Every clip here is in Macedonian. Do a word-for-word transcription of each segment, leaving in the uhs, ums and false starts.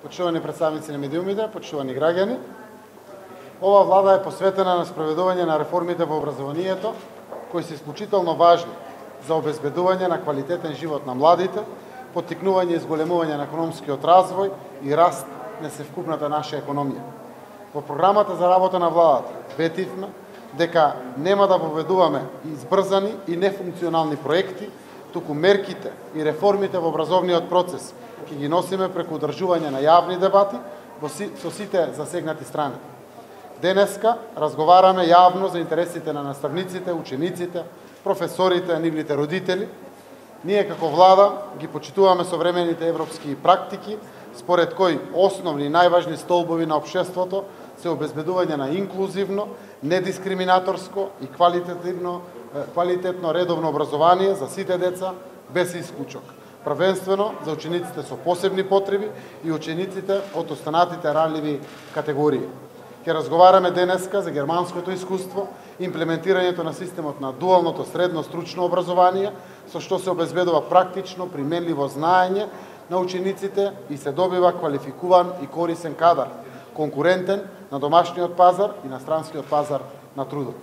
почитувани представници на медиумите, почитувани граѓани. Ова влада е посветена на спроведување на реформите во образованието, кои се исклучително важни за обезбедување на квалитетен живот на младите, поттикнување и зголемување на економскиот развој и раст на севкупната наша економија. Во програмата за работа на владата ветивме дека нема да воведуваме избрзани и нефункционални проекти, туку мерките и реформите во образовниот процес ќе ги носиме преку одржување на јавни дебати со сите засегнати страни. Денеска разговараме јавно за интересите на наставниците, учениците, професорите, нивните родители. Ние како влада ги почитуваме современите европски практики, според кои основни и најважни столбови на општеството се обезбедување на инклузивно, недискриминаторско и квалитетивно, квалитетно редовно образование за сите деца без исклучок, првенствено за учениците со посебни потреби и учениците од останатите ранливи категории. Ќе разговараме денеска за германското искуство, имплементирањето на системот на дуалното средно стручно образование, со што се обезбедува практично применливо знаење на учениците и се добива квалификуван и корисен кадар, конкурентен на домашниот пазар и на странскиот пазар на трудот.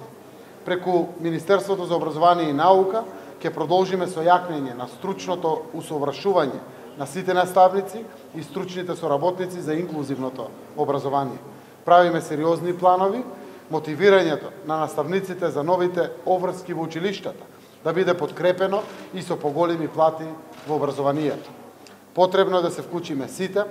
Преку Министерството за образование и наука ќе продолжиме со јакнење на стручното усовршување на сите наставници и стручните соработници за инклузивното образование. Правиме сериозни планови, мотивирањето на наставниците за новите обврски во училиштата да биде подкрепено и со поголеми плати во образованието. Потребно е да се вклучиме сите,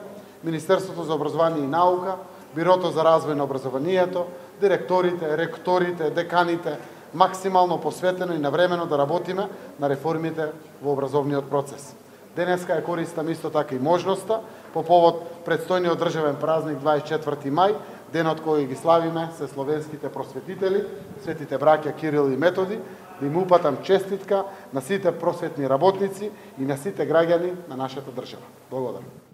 Министерството за образование и наука, Бирото за развој на образованието, директорите, ректорите, деканите, максимално посветено и навремено да работиме на реформите во образовниот процес. Денеска ја користам исто така и можноста по повод предстојниот државен празник дваесет и четврти мај, денот кој ги славиме се словенските просветители, светите браќа Кирил и Методи, да им упатам честитка на сите просветни работници и на сите граѓани на нашата држава. Благодарам.